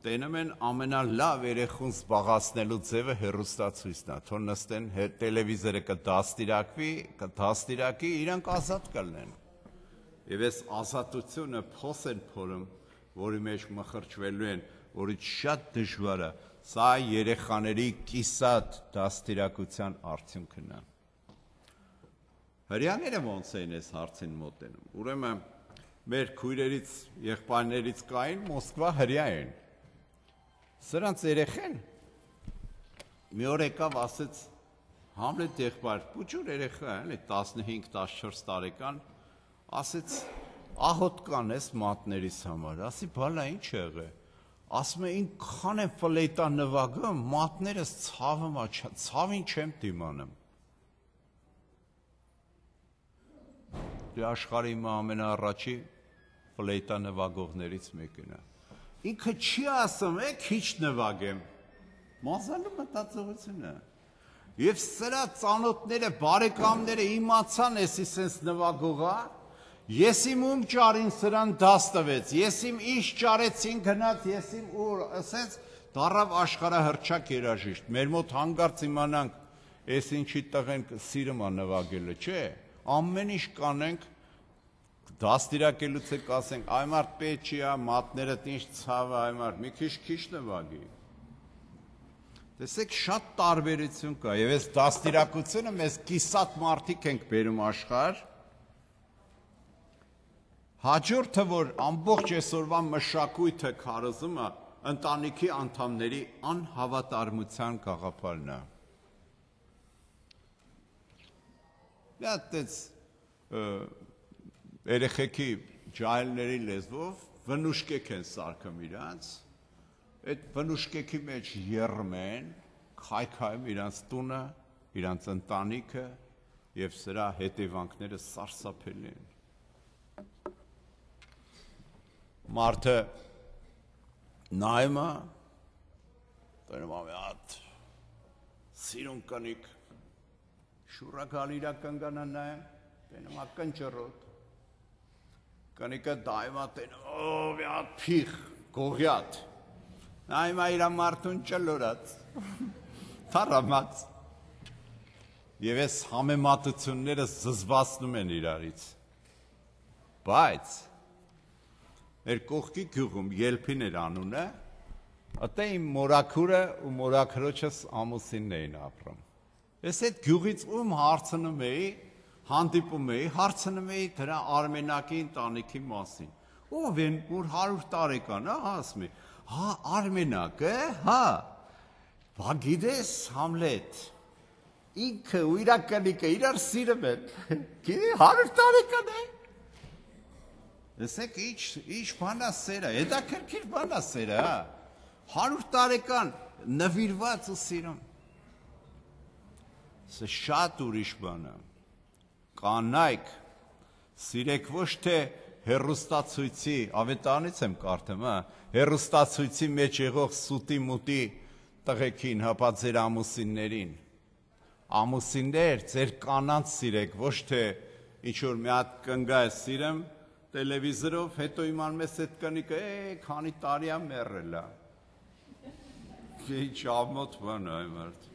տենում են ամենալավ երեխուն զբաղացնելու ձևը հեռուստացույցն է, թող նստեն տելևիզորը կդաստիարակվի, կդաստիարակի, իրանք ազատ կլինեն։ Եվ այս ազատությունը փոս են փորում, որի մեջ մխրճվելու են, որից շատ դժվար է, սա երեխաների կիսատ դաստիարակության արդյունքն է։ Հրյաները ոնց էին այս հարցին մոտենում։ Ուրեմն մեր քույրերից, եղբայրներից կային Մոսկվա հրյա են։ Սրանց երեխեն մի օր եկավ ասեց Համլետ եղբայր, փուչուր երեխա է, տասնհինգ տասնչորս տարեկան, ասեց ահոտ կան էս մատներիս համար, ասի բալա ինչ եղե։ Ասում է ինքան եմ ֆլեյտա նվագում, մատներս ցավում է, ցավին չեմ դիմանում։ Աշխարհի իմ ամենաառաջի ֆլեյտա նվագողներից մեկն է։ Ինքը չի ասում, է քիչ նվագեմ։ Մազալու մտածողությունը։ Եվ սրա ծանոթները, բարեկամները իմացան էսի սենց նվագողա, ես իմ ում ճարին սրան դաս տվեց, ես իմ ինչ ճարեցին գնաց, ես իմ ուր, ասենց դարավ աշխարհահռչակ երաժիշտ։ Մեր մոտ հանգարց իմանանք, էս ինչի տղեն սիրում է նվագելը, չէ։ Ամեն ինչ կանենք, դաստիարակելուց եք ասենք, այ մարդ պետք չի, մատներդ ինչ ցավ է, այ մարդ մի քիչ քիչ նվագի։ Տեսեք շատ տարբերություն կա, եւ այս դաստիարակությունը մեզ կիսատ մարդիկ ենք բերում աշխարհ։ Հաջորդը, որ ամբողջ այսօրվա մշակույթը քարոզում է, ընտանիքի անդամների անհավատարմության գաղափարն է։ Դատեց երեխեքի ջահելների լեզվով վնուշկեք են սարքում իրանց, այդ վնուշկեքի մեջ եռում են, քայքայում իրանց տունը, իրանց ընտանիքը եւ սրա հետևանքները սարսափելի են։ Մարդը նայում է, տենում է հատ սիրուն կնիկ շուրակալ իրական գանան նայեմ, տենում է կնճռոտ, կնիկը դայում է տենում, օ, մի հատ փիխ, գողյատ, նայում է իրա մարդուն ճլորած, թարամած, և ես համեմատությունները զզվացնում են իրարից, բայց, մեր կողքի գյուղում ելպին էր անունը, Ատե իմ մորաքուրը ու մորաքրոջս ամուսինն էին ապրում։ Ես այդ գյուղից ում հարցնում էի, հանդիպում էի, հարցնում էի դրա Արմենակի ընտանիքի մասին։ Ով են, որ հարյուր տարեկան, հա, ասում է, հա, Արմենակը, հա, բա գիտես Համլետ, ինքը ու իր կնիկը իրար սիրում են, գիտի հարյուր տարեկան է։ Լսեք, ինչ բանա սերը, հետաքրքիր բանա սերը, հա, հարյուր տարեկան նվիրված ու սիրում։ Սա շատ ուրիշ բան է, կանայք, սիրեք ոչ թե հեռուստացույցի, ավետարանից եմ կարդում, հա, հեռուստացույցի մեջ եղող սուտի մուտի տղեկին, հապա ձեր ամուսիններին, ամուսիններ, ձեր կանանց սիրեք, ոչ թե ինչ-որ մի հատ կնգա է սիրեմ, տելևիզորով, հետո իմանում ես այդ կնիկը, է, քանի տարի է մեռել է, ինչ ամոթ բան է այն մարդ։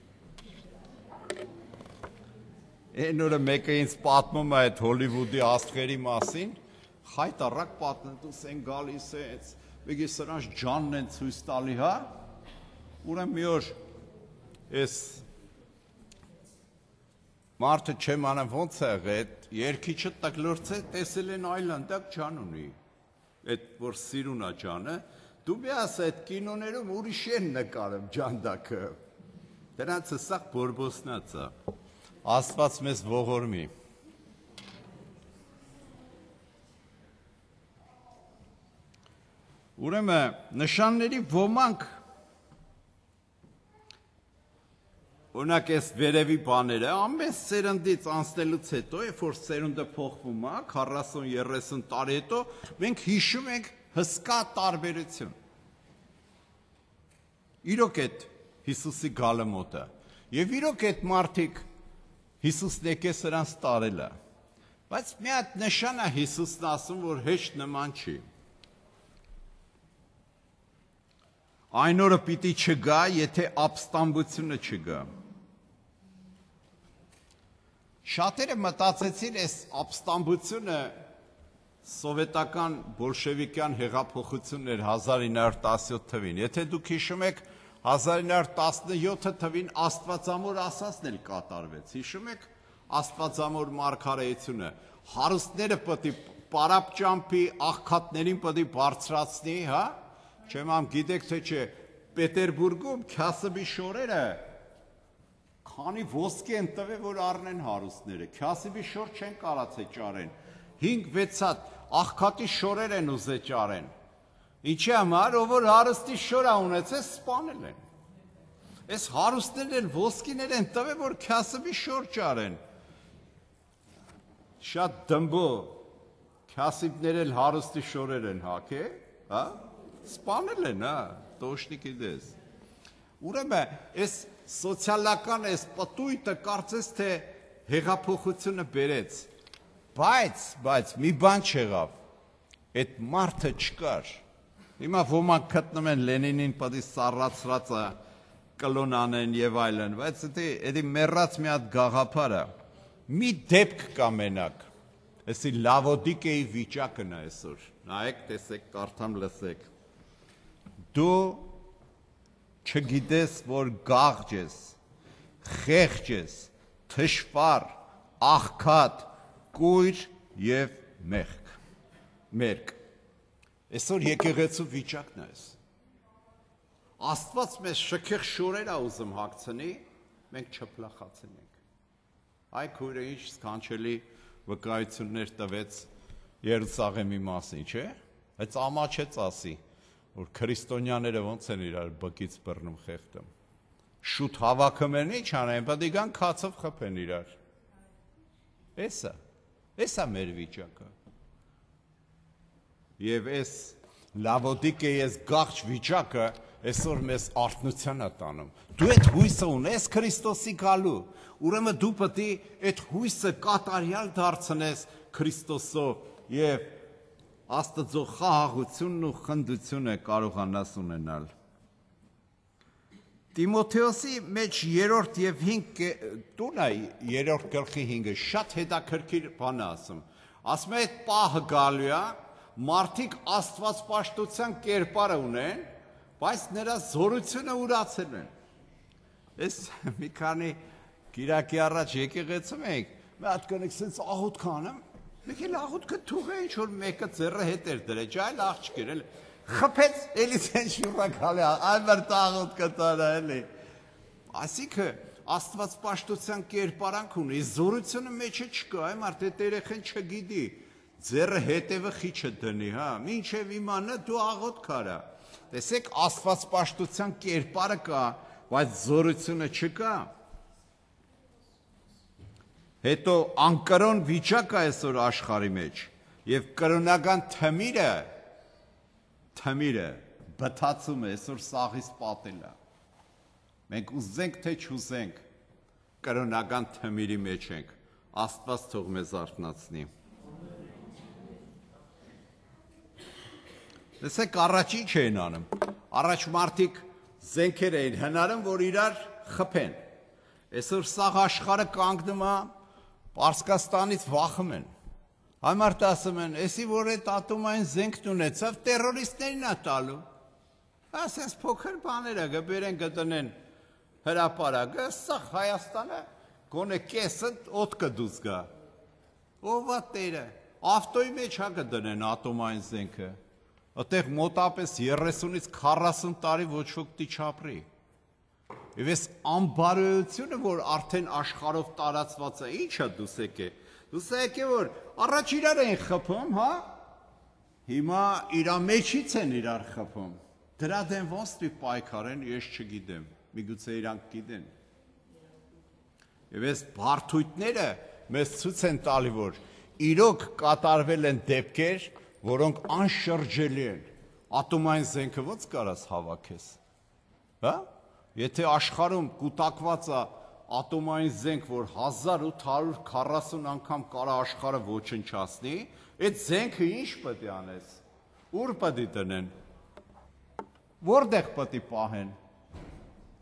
Այն օրը մեկը ինձ պատմում է այդ Հոլիվուդի աստղերի մասին, խայտառակ պատմում են գալիս է, մեկ է սրանց ջանն են ցույց տալի, հա, ուրեմն մի օր ես մարդը չեմ անեմ ոնց է եղել, այդ երգիչը տկլորց է, տեսել են այլանդակ ջան ունի, այդ որ սիրուն է ջանը, դու մի ասա այդ կինոներում ուրիշ են նկարում ջանդակը, դրանց սա բորբոսնած է, Աստված մեզ ողորմի։ Ուրեմն նշանների ոմանք օրինակ այս վերևի բաները ամեն սերնդից անցնելուց հետո, երբ որ սերունդը փոխվում է, քառասուն երեսուն տարի հետո, մենք հիշում ենք հսկա տարբերություն։ Իրոք այդ Հիսուսի գալը մոտ է։ Եվ իրոք այդ մարդիկ Հիսուսն եկե սրանց տարել է, բայց մի հատ նշան է Հիսուսն ասում, որ հեշտ նման չի։ Այն օրը պիտի չգա, եթե ապստամբությունը չգա։ Շատերը մտածեցին այս ապստամբությունը սովետական բոլշևիկյան հեղափոխությունն էր հազար ինը հարյուր տասնյոթ թվին։ Եթե դուք հիշում եք հազար ինը հարյուր տասնյոթ թվին Աստվածամոր ասածն էլ կատարվեց, հիշում եք Աստվածամոր մարգարեությունը, հարուստները պետք է պարապ ճամփի, աղքատներին պետք է բարձրացնի, հա, չեմ ամ գիտեք թե չէ, Պետերբուրգում Քյասիբի շորերը քանի ոսկի են տվել, որ առնեն հարուստները, Քյասիբի շոր չեն կարացե ճարեն, հինգ-վեց հատ աղքատի շորեր են ուզե ճարեն, ինչի համար, ով որ հարուստի շորա ունեցել, սպանել են, այս հարուստներն են, ոսկիներ են տվել, որ Քյասիբի շոր ճարեն, շատ դմբո, Քյասիբներ էլ հարուստի շորեր են հաք է, հա, սպանել են, հա, տոշնիկի դես, ուրեմն, այս սոցիալական այս պտույտը կարծես թե հեղափոխությունը բերեց, բայց, բայց մի բան չեղավ, այդ մարդը չկար, հիմա ոմանք գտնում են Լենինին պատի սառացրածը կլոն անեն եւ այլն, բայց դա մեռած մի հատ գաղափար է, մի դեպք կա մենակ, այսի Լավոդիկեի վիճակն է այսօր, նայեք, տեսեք, կարդամ լսեք, դու չգիտես, որ գաղջ ես, խեղճ ես, թշվառ, աղքատ, կույր և մեղք, մերկ, այսօր եկեղեցու վիճակն է այս, Աստված մեզ շքեղ շորեր է ուզում հագցնի, մենք չփլախացնենք, այ քույրը ինչ սքանչելի վկայություններ տվեց Երուսաղեմի մասին, չէ, այս ամաչեց ասի, որ քրիստոնյաները ոնց են իրար բկից բռնում խեղդում, շուտ հավաքում են ինչ անեն, պետք է գան քացով խփեն իրար, էսա, էսա մեր վիճակը, և այս Լավոդիկեի այս գաղջ վիճակը այսօր մեզ արթնության է տանում, դու այդ հույսը ունես Քրիստոսի գալու, ուրեմն դու պետք է այդ հույսը կատարյալ դարձնես Քրիստոսով և Աստծո խաղաղությունն ու խնդությունը կարողանաս ունենալ։ Տիմոթեոսի մեջ երրորդ և հինգ տուն է երրորդ գլխի հինգը շատ հետաքրքիր բան է ասում։ Ասում է այդ պահը գալու է, մարդիկ աստվածպաշտության կերպարը ունեն, բայց նրա զորությունը ուրացել են։ Ես մի քանի գիրակի առաջ եկեղեցում էինք, մի հատ կնիկ սենց աղոտ կանեմ, մեկ էլ աղոտքը թուղ է ինչ-որ մեկը ձեռը հետ էր դրեջ, այլ աղջկեր էլ, խպեց, էլի սենց շուրակալ է, այմար տաղոտ կտարա էլի։ Ասիքը աստվածպաշտության կերպարանք ունի, զորությունը մեջը չկա, այմ արդ էտ երեխեն չգիդի, ձեռը հետևը խիչը դնի, հա, մինչև իմանա դու աղոտ կարա։ Տեսեք աստվածպաշտության կերպարը կա, բայց զորությունը չկա։ Հետո անկրոն վիճակ է այսօր աշխարհի մեջ եւ կրոնական թմիրը թմիրը բթացում է այսօր սաղից պատել է։ Մենք ուզենք թե չուզենք կրոնական թմիրի մեջ ենք։ Աստված թող մեզ արթնացնի։ Տեսեք առաջ ինչ էին անում։ Առաջ մարդիկ զենքեր էին հնարում, որ իրար խփեն։ Այսօր սաղ աշխարհը կանգնում է, Պարսկաստանից վախում են։ Համարտ ասում են, էսի որ այդ ատոմային զենքն ունեցավ, տերորիստներին է տալու։ Ասես փոքր բաները գբերեն գտնեն հրապարակը, սաղ Հայաստանը գոնե կեսը օդ կդուս գա։ Ով է տերը, ավտոյի մեջ հա կդնեն ատոմային զենքը։ Այդտեղ մոտապես երեսունից քառասուն տարի ոչ ոք չի չապրի։ Եվ այս անբարոյությունը, որ արդեն աշխարհով տարածված է, ի՞նչ է դուս եկե։ Դուս եկե որ առաջ իրար են խփում, հա։ Հիմա իրա մեջից են իրար խփում։ Դրա դեմ ոնց դի պայքարեն, ես չգիտեմ։ Միգուցե իրանք գիտեն։ Եվ այս բարդույթները մեզ ցույց են տալի, որ իրոք կատարվել են դեպքեր, որոնք անշրջելի են։ Ատոմային զենքը ո՞նց կարաս հավաքես։ Հա։ Եթե աշխարհում կուտակված է ատոմային զենք, որ հազար ութ հարյուր քառասուն անգամ կարա աշխարհը ոչնչացնի, այդ զենքը ինչ պետք է անես։ Ուր պետք է տնեն։ Որտեղ պետք է պահեն։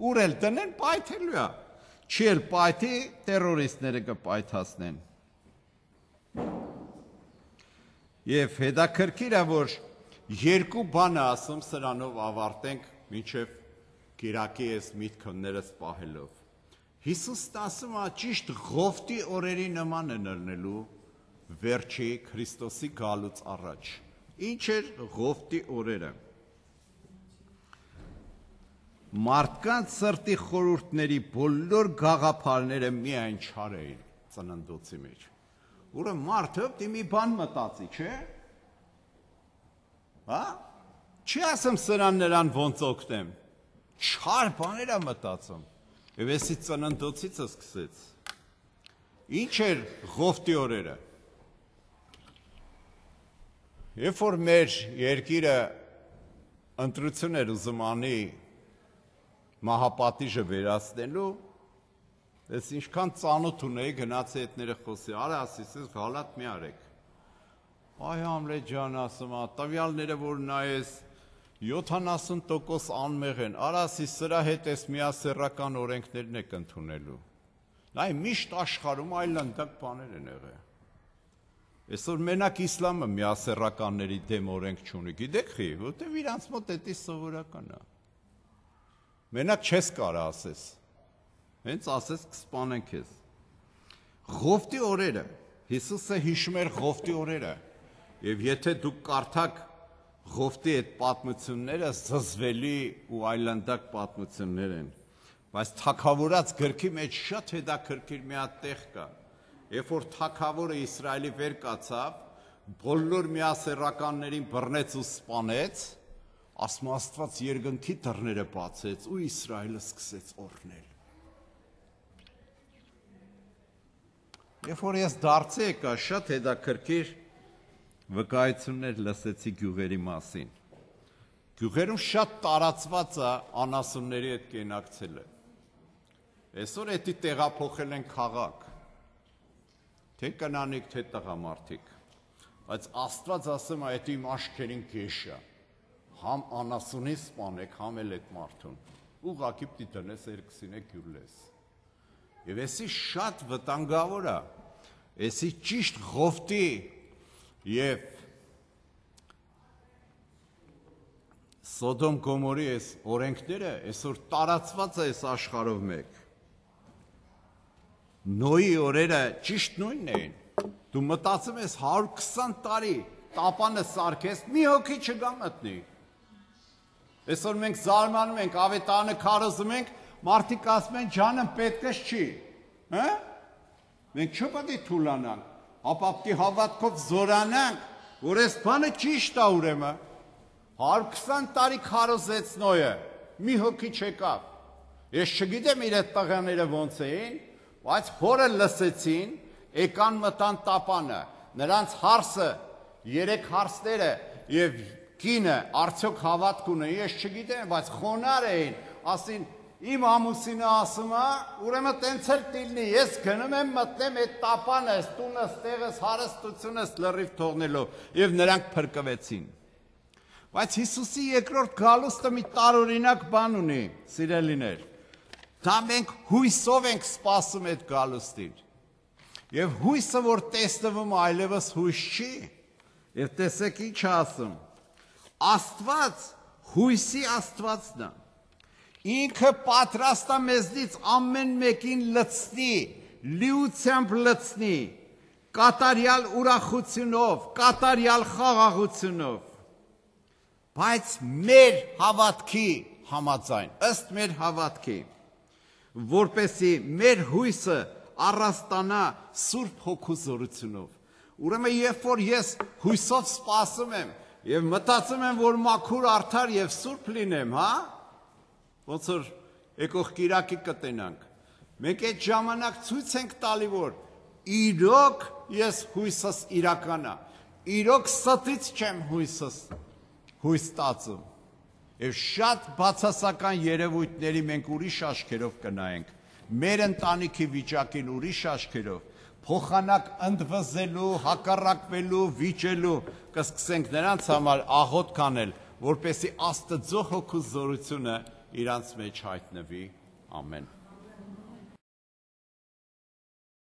Ուր էլ տնեն, պայթելու է։ Չի էլ պայթի, տերորիստները կպայթացնեն։ Եվ հետաքրքիր է, որ երկու բան է ասում, սրանով ավարտենք, մինչև Կիրակի ես միտքներս պահելով։ Հիսուսն ասում է ճիշտ Ղովտի օրերի նման են ելնելու վերջի Քրիստոսի գալուց առաջ։ Ինչ էր Ղովտի օրերը։ Մարդկանց սրտի խորհուրդների բոլոր գաղափարները միայն չար էին ծննդոցի մեջ։ Ուրեմն մարդը դի մի բան մտածի, չէ՞։ Հա։ Չի ասում սրան նրան ոնց օգնեմ։ Չար բաներ է մտածում։ Եվ էսի ծննդոցից սկսեց։ Ինչ էր Ղովտի օրերը։ Երբ որ մեր երկիրը ընտրություն էր ուզում անի մահապատիժը վերացնելու, ես ինչքան ծանոթ ունեի գնացի հետները խոսի, արա ասիս ես գալատ մի արեք։ Այ Համլետ ջան ասում է, տվյալները որ նայես յոթանասուն տոկոս անմեղ են, արասի սրա հետ ես միասեռական օրենքներն եք ընդունելու։ Նայ միշտ աշխարհում այլանդակ բաներ են եղել։ Այսօր մենակ իսլամը միասեռականների դեմ օրենք չունի, գիտեք խի, որտեվ իրանց մոտ դա սովորական է։ Մենակ չես կարա ասես։ Հենց ասես կսպանեն քեզ։ Ղովտի օրերը, Հիսուսը հիշում էր Ղովտի օրերը, եւ եթե դուք կարդաք Ղովտի այդ պատմությունները զզվելի ու այլանդակ պատմություններ են, բայց թագավորած գրքի մեջ շատ հետաքրքիր մի հատ տեղ կա։ Երբ որ թագավորը Իսրայելի վեր կացավ, բոլոր միասեռականներին բռնեց ու սպանեց, ասում Աստված երկնքի դռները բացեց ու Իսրայելը սկսեց օրհնել։ Երբ որ ես դարձի եկա, շատ հետաքրքիր վկայություններ լսեցի գյուղերի մասին։ Գյուղերում շատ տարածված է անասունների հետ կենակցելը։ Այսօր էդի տեղափոխել են քաղաք, թե կնանիկ, թե տղամարդիկ, բայց Աստված ասում է, այդ իմ աչքերին կեշ է, համ անասունի սպանեք, համ էլ այդ մարդուն, ուղղակի պիտի տնես երկուսին է գյուլես։ Եվ էսի շատ վտանգավոր է, էսի ճիշտ Ղովտի և Սոդոմ Գոմորի այս օրենքները այսօր տարածված է այս աշխարհով մեկ։ Նոյի օրերը ճիշտ նույնն էին։ Դու մտածում ես հարյուր քսան տարի տապանը սարքես, մի հոգի չգա մտնի։ Այսօր մենք զարմանում ենք, ավետարանը քարոզում ենք, մարդիկ ասում են ջանը պետքս չի, հա՞։ Մենք չպետք է թուլանանք, ապա պետք է հավատքով զորանանք, որ այս բանը ճիշտ է ուրեմն։ հարյուր քսան տարի քարոզեց Նոյը, մի հոգի չեկավ։ Ես չգիտեմ իր այդ տղաները ոնց էին, բայց հորը լսեցին, եկան մտան տապանը, նրանց հարսը, երեք հարսները եւ կինը արդյոք հավատք ունեն, ես չգիտեմ, բայց խոնար էին, ասին իմ ամուսինը ասում է, ուրեմն տենց էլ տիլնի, ես գնում եմ մտնեմ այդ տապանը, այս տունս, տեղս, հարստությունս լրիվ թողնելով եւ նրանք փրկվեցին։ Բայց Հիսուսի երկրորդ գալուստը մի տարօրինակ բան ունի, սիրելիներ։ Դա մենք հույսով ենք սպասում այդ գալուստին։ Եվ հույսը, որ տեսնվում այլևս հույս չի, եւ տեսեք ինչ ասում։ Աստված հույսի Աստվածն է։ Ինքը պատրաստ է մեզնից ամեն մեկին լցնի, լիությամբ լցնի, կատարյալ ուրախությունով, կատարյալ խաղաղությունով։ Բայց մեր հավատքի համաձայն, ըստ մեր հավատքի, որպեսի մեր հույսը առաստանա Սուրբ Հոգու զորությունով։ Ուրեմն երբ որ ես հույսով սպասում եմ եւ մտածում եմ, որ մաքուր արդար եւ սուրբ լինեմ, հա? Ոնց որ եկող Կիրակի կտենանք։ Մենք այդ ժամանակ ցույց ենք տալի, որ իրոք ես հույսս իրական է։ Իրոք ստից չեմ հույսս հույս տածում։ Եվ շատ բացասական երևույթների մենք ուրիշ աչքերով կնայենք, մեր ընտանիքի վիճակին ուրիշ աչքերով, փոխանակ ընդվզելու, հակառակվելու, վիճելու, կսկսենք նրանց համար աղոթ կանել, որպեսզի Աստծո Հոգու զորությունը իրանց մեջ հայտնվի։ Ամեն։